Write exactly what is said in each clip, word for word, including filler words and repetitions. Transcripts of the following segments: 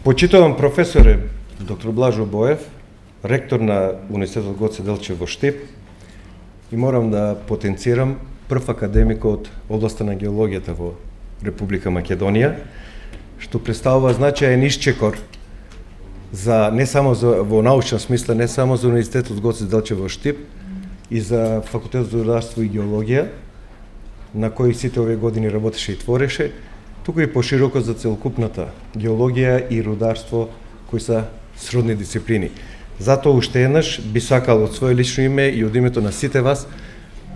Почитуван професоре доктор Блажо Боев, ректор на Университетот Гоце Делчев во Штип, и морам да потенцирам прв академик од областа на геологијата во Република Македонија, што представува значаен исчекор за не само за, во научен смисла, не само за Университетот Гоце Делчев во Штип, и за Факултетот за рударство и геологија, на кој сите овие години работеше и твореше, туку и пошироко за целокупната геологија и рударство, кои се сродни дисциплини. Затоа уште еднаш би сакал од свое лично име и од името на сите вас,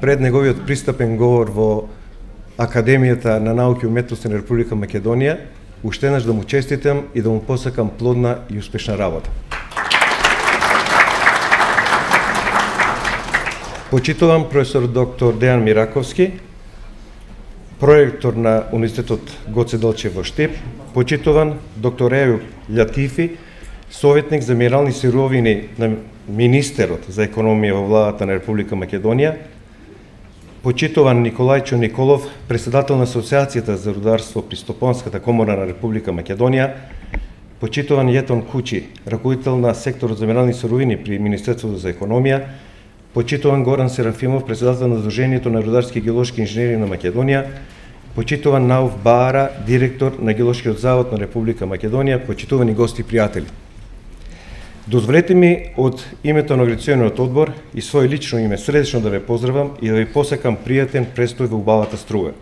пред неговиот пристапен говор во Академијата на науки и уметности на Република Македонија, уште еднаш да му честитам и да му посакам плодна и успешна работа. Почитувам професор доктор Дејан Мираковски, проектор на Университетот Гоце Делчев во Штип, почитуван доктор Ејуп Лјатифи, советник за минерални сировини на министерот за економија во владата на Република Македонија, почитуван Николајчо Николов, председател на Асоциацијата за рударство при Стопанската комора на Република Македонија, почитуван Јетон Кучи, раководител на секторот за минерални сировини при Министерството за економија, почитуван Горан Серафимов, председател на Сдруженијето на рударски и геолошки инженери на Македонија, почитуван Науф Баара, директор на Геолошкиот завод на Република Македонија, почитувани гости и пријатели. Дозволете ми од името на Организациониот одбор и своје лично име средечно да ве поздравам и да ви посакам пријатен престој во убавата Струга.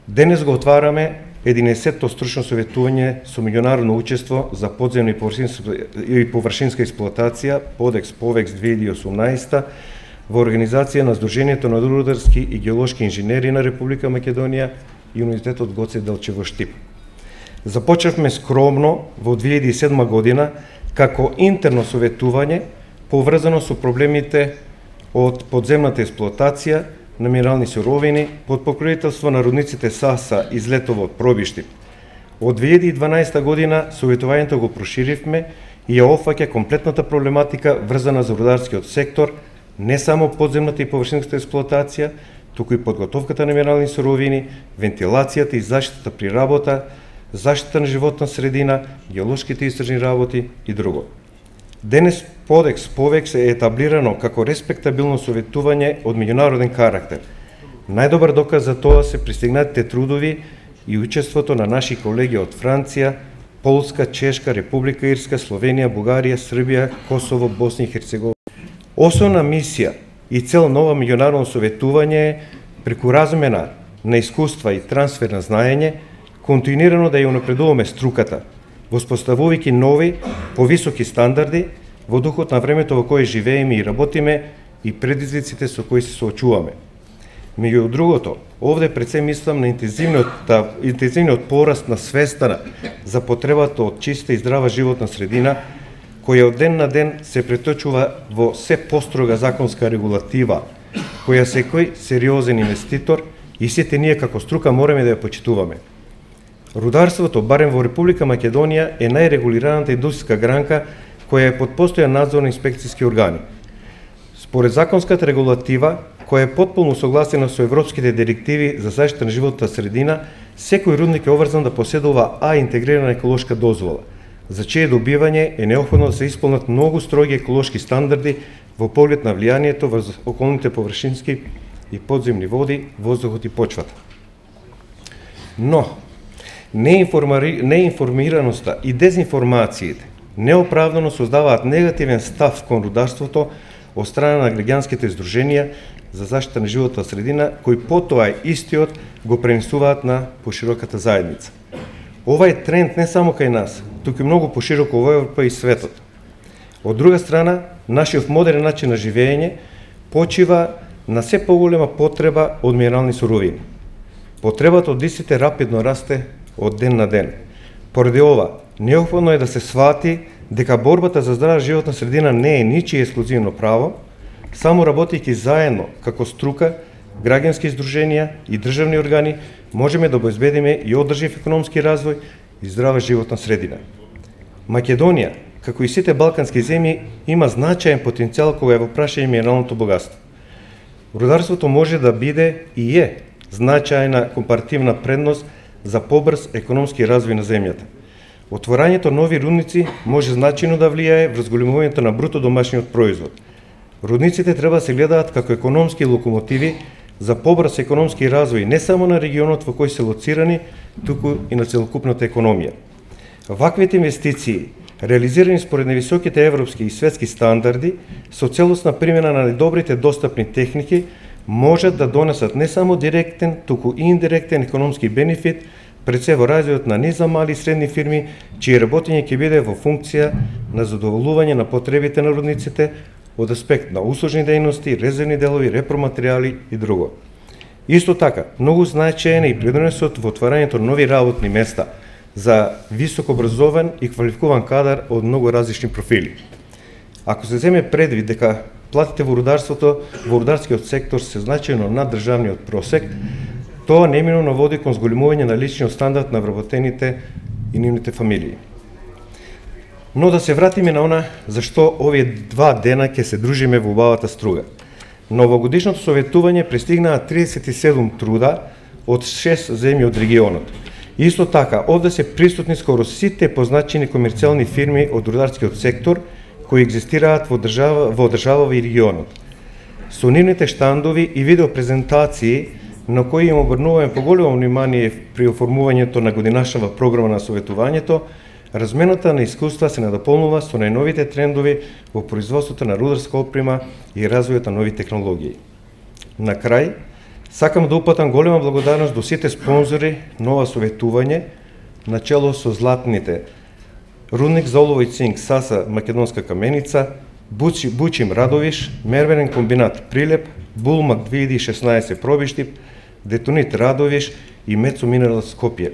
Денес го отвараме единаесетто стручно советување со меѓународно учество за подземна и површинска, и површинска експлоатација Подекс Повекс две илјади и осумнаесета во организација на Сдруженијето на рударски и геолошки инженери на Република Македонија и Университетот Гоце Делчев во Штип. Започнавме скромно во две илјади и седма година како интерно советување поврзано со проблемите од подземната експлоатација на минерални суровини под покровителство на рудниците Саса и Злетово од Пробиштип. Од две илјади и дванаесета година советувањето го проширивме и ја опфаќа комплетната проблематика врзана за рударскиот сектор, не само подземната и површинската експлоатација, туку и подготовката на минерални суровини, вентилацијата и заштитата при работа, заштита на животна средина, геолошките истражни работи и друго. Денес Подекс Повекс е етаблирано како респектабилно советување од меѓународен карактер. Најдобар доказ за тоа се пристигнатите трудови и учеството на наши колеги од Франција, Полска, Чешка, Република Ирска, Словенија, Бугарија, Србија, Косово, Босна и Херцеговина. Основна мисија и цел нова меѓународно советување е преку размена на искуства и трансфер на знаење, континуирано да ја унапредуваме струката, воспоставувајќи нови, повисоки стандарди во духот на времето во кое живееме и работиме и предизвиците со кои се соочуваме. Меѓу другото, овде пред се мислам на интензивниот, интензивниот пораст на свеста за потребата од чиста и здрава животна средина, која од ден на ден се преточува во се построга законска регулатива, која секој сериозен инвеститор и сите ние како струка мораме да ја почитуваме. Рударството, барем во Република Македонија, е најрегулираната индустријска гранка која е под постојан надзор на инспекцијски органи. Според законската регулатива, која е потполно согласена со европските директиви за заштита на животната средина, секој рудник е обврзан да поседува А интегрирана еколошка дозвола, за чие добивање е неопходно да се исполнат многу строги еколошки стандарди во поглед на влијанието врз околните површински и подземни води, воздухот и почвата. Но, неинформираноста и дезинформациите неоправдано создаваат негативен став кон рударството од страна на граѓанските здруженија за заштита на животната средина, кои потоа истиот го пренесуваат на пошироката заедница. Ова е тренд не само кај нас, туку и многу пошироко во Европа и светот. Од друга страна, нашиот модерен начин на живење почива на се поголема потреба од минерални суровини. Потребата од истите рапидно расте од ден на ден. Поради ова, неопходно е да се свати дека борбата за здрава животна средина не е ничие ексклузивно право, само работејќи заедно како струка, граѓански здруженија и државни органи можеме да обезбедиме и одржив економски развој и здрава животна средина. Македонија, како и сите балкански земји, има значаен потенцијал кога е во прашање минералното богатство. Рударството може да биде и е значајна компаративна предност за побрз економски развој на земјата. Отворањето нови рудници може значајно да влијае врз зголемувањето на бруто домашниот производ. Рудниците треба да се гледаат како економски локомотиви за побрз економски развој не само на регионот во кој се лоцирани, туку и на целокупната економија. Ваквите инвестиции, реализирани според невисоките европски и светски стандарди, со целосна примена на најдобрите достапни техники, можат да донесат не само директен, туку и индиректен економски бенефит, пред се во развојот на низ за мали и средни фирми, чие работење ќе биде во функција на задоволување на потребите на рудниците од аспект на услужни дејности, резервни делови, repроматеријали и друго. Исто така, многу значаен е и придонесот во отварањето на нови работни места за високо образован и квалификуван кадар од многу различни профили. Ако се земе предвид дека платите во рударството, во рударскиот сектор се значајно над државниот просек, тоа неминовно води кон зголемување на личниот стандард на вработените и нивните фамилии. Но да се вратиме на она зашто овие два дена ќе се дружиме во убавата струга. На овогодишното советување пристигнаа триесет и седум труда од шест земји од регионот. Исто така, овде се присутни скоро сите позначени комерцијални фирми од рударскиот сектор кои екзистираат во држава, во државава и регионот. Со нивните штандови и видеопрезентации на кои им обрнуваме поголемо внимание при оформувањето на годинашнава програма на советувањето, размената на искуства се надополнува со најновите трендови во производството на рударска опрема и развојот на нови технологии. На крај, сакам да упатам голема благодарност до сите спонзори на ова советување, начело со златните Рудник за олово и цинк САСА Македонска каменица, Бучи, Бучим Радовиш, Мервенен комбинат Прилеп, Булмак две илјади и шеснаесет Пробиштип, Детонит Радовиш и Мецо Минерал Скопје.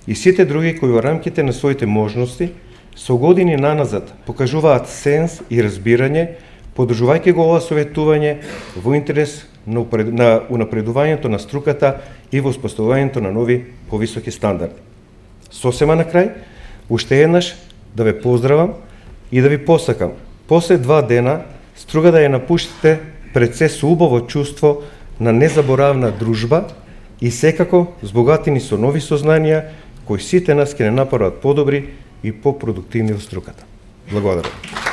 И сите други кои во рамките на своите можности со години наназад покажуваат сенс и разбирање, подржувајќи го ова советување во интерес на унапредувањето на струката и во успоставувањето на нови повисоки стандарди. Сосема на крај, уште еднаш да ве поздравам и да ви посакам после два дена струга да ја напуштите пред се со убаво чувство на незаборавна дружба и секако збогатени со нови сознанија кои сите нас ќе не направат подобри и попродуктивни во струката. Благодарам.